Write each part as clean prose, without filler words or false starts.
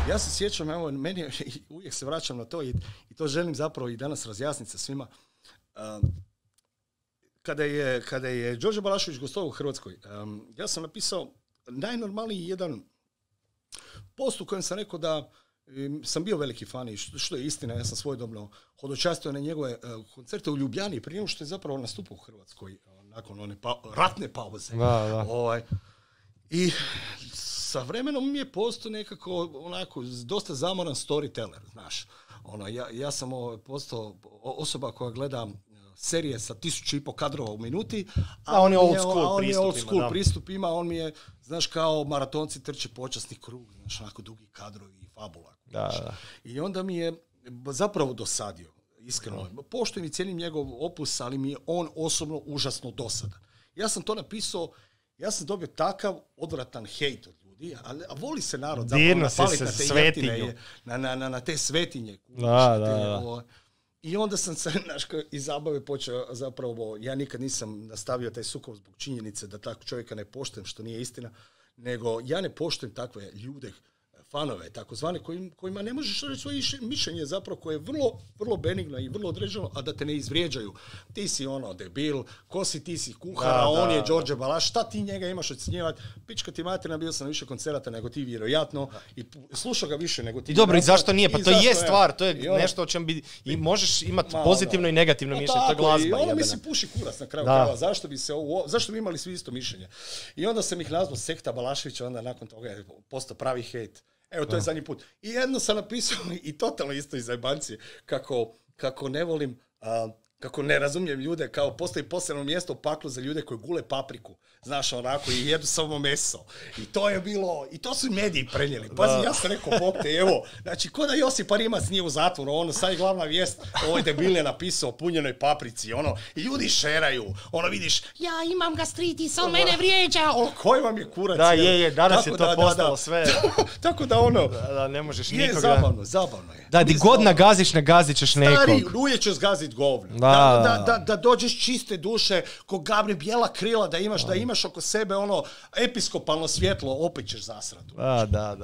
Ja se sjećam, evo, meni uvijek se vraćam na to i to želim zapravo i danas razjasniti sa svima. Kada je Đorđe Balašević gostovao u Hrvatskoj, ja sam napisao najnormalniji jedan post u kojem sam rekao da sam bio veliki fan i što je istina, ja sam svojedobno hodočastio na njegove koncerte u Ljubljani prije nego što je zapravo nastupao u Hrvatskoj nakon one ratne pauze. I sa vremenom mi je postao nekako onako dosta zamoran storyteller, znaš. Ja sam postao osoba koja gleda serije sa 1500 kadrova u minuti, a on je old school pristupima, on mi je, znaš, kao maratonci trče počasni krug, znaš, onako dugi kadrovi i fabula. I onda mi je zapravo dosadio, iskreno. Poštujem i cijenim njegov opus, ali mi je on osobno užasno dosadan. Ja sam to napisao, ja sam dobio takav odvratan hejt od ljudi, a voli se narod zapravo napaliti na te svetinje, na te svetinje. I onda sam se, iz zabave počeo zapravo, ja nikad nisam nastavio taj sukob zbog činjenice da takvog čovjeka ne poštujem, što nije istina, nego ja ne poštujem takve ljude, fanove, takozvane, kojima ne možeš reći svoje mišljenje zapravo koje je vrlo, vrlo benigno i vrlo određeno, a da te ne izvrijeđaju. Ti si debil, ko si, ti si kuhara, on je Đorđe Balaš, šta ti njega imaš ocjenjivati? Pička ti materina, bio sam na više koncerata nego ti vjerojatno i slušao ga više nego ti. I dobro, i zašto nije? Pa to je stvar, to je nešto o čem bi i možeš imati pozitivno i negativno mišljenje, to je glazba. I mislim puši kurac na kraju krajeva, zašto bi imali svi isto mišljenje? I onda sam ih nazvao sekta Balaševića, onda nakon toga je postao pravi hejt. Evo, to je zadnji put. I jedno sam napisao i totalno isto iz zajebancije, kako ne volim, kako ne razumijem ljude, kao postoji posebno mjesto u paklu za ljude koji gule papriku, znaš, onako, i jedu samo meso. I to je bilo, i to su mediji prenijeli. Pazi, ja sam rekao, bok te, evo, znači, ko da Josip Rimac nije u zatvoru, sad je glavna vijest, ovoj debil je napisao o punjenoj paprici, i ljudi šeraju, vidiš, ja imam gastritis, on mene vrijeđa, koji vam je kurac? Da, danas je to postalo sve. Tako da, ne možeš nikoga. Je zabavno je. Da, di god nagaziš, nagazit ćeš nekog. Stari, uvijek ćeš zgazit govno. Da dođeš čiste duše, ko Gabri bijela krila, da imaš oko sebe episkopalno svjetlo, opet ćeš zasrati. Da.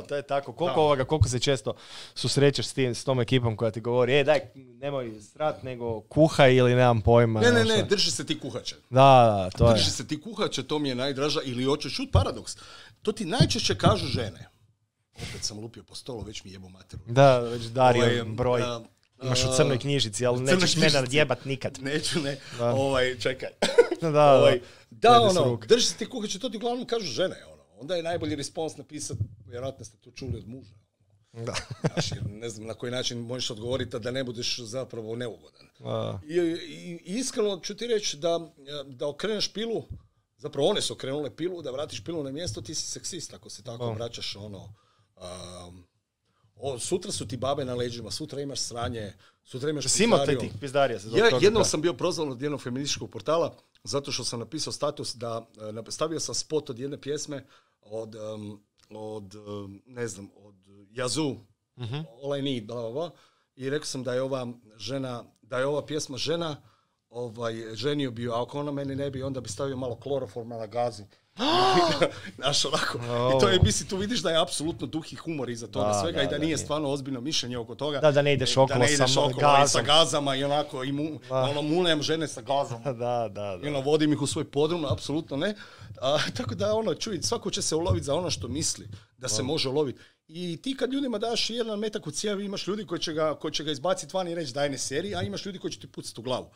To je tako. Koliko se često susrećeš s tom ekipom koja ti govori, daj, nemoj srat, nego kuhaj ili nemam pojma. Ne, drži se ti kuhače. Drži se ti kuhače, to mi je najdraža, ili hoćeš čut paradoks. To ti najčešće kažu žene. Opet sam lupio po stolu, već mi jebo materu. Da, već dario broj. Imaš u crnoj knjižici, ali nećeš mene odjebat nikad. Neću, čekaj. Drži se ti kuhače, to ti uglavnom kažu žene. Onda je najbolji respons napisati, vjerojatno ste to čuli od muža. Znaš, jer ne znam na koji način možeš odgovoriti da ne budeš zapravo neugodan. I iskreno ću ti reći da okreneš pilu, zapravo one su okrenule pilu, da vratiš pilu na mjesto, ti si seksist ako se tako vraćaš sutra su ti babe na leđima, sutra imaš sranje, sutra imaš pizdarija. Jednom sam bio prozvan od jednog feminističkog portala zato što sam napisao status da stavio sam spot od jedne pjesme od Yazoo, All I Need, bla, bla, bla, i rekao sam da je ova pjesma žena ženio bio, a ako ona meni ne bi, onda bi stavio malo kloroforma na gazi. Znaš, onako. I to je, mislim, tu vidiš da je apsolutno duh i humor iza toga svega i da nije stvarno ozbiljno mišljenje oko toga. Da ne ideš okolo sa gazama i onako, munem žene sa gazom. I vodim ih u svoj podrum, apsolutno ne. Tako da, čuj, svako će se uloviti za ono što misli da se može uloviti. I ti kad ljudima daš jedan metak u cijevi, imaš ljudi koji će ga izbaciti van i reći daj ne seri, a imaš ljudi koji će ti pucati u glavu.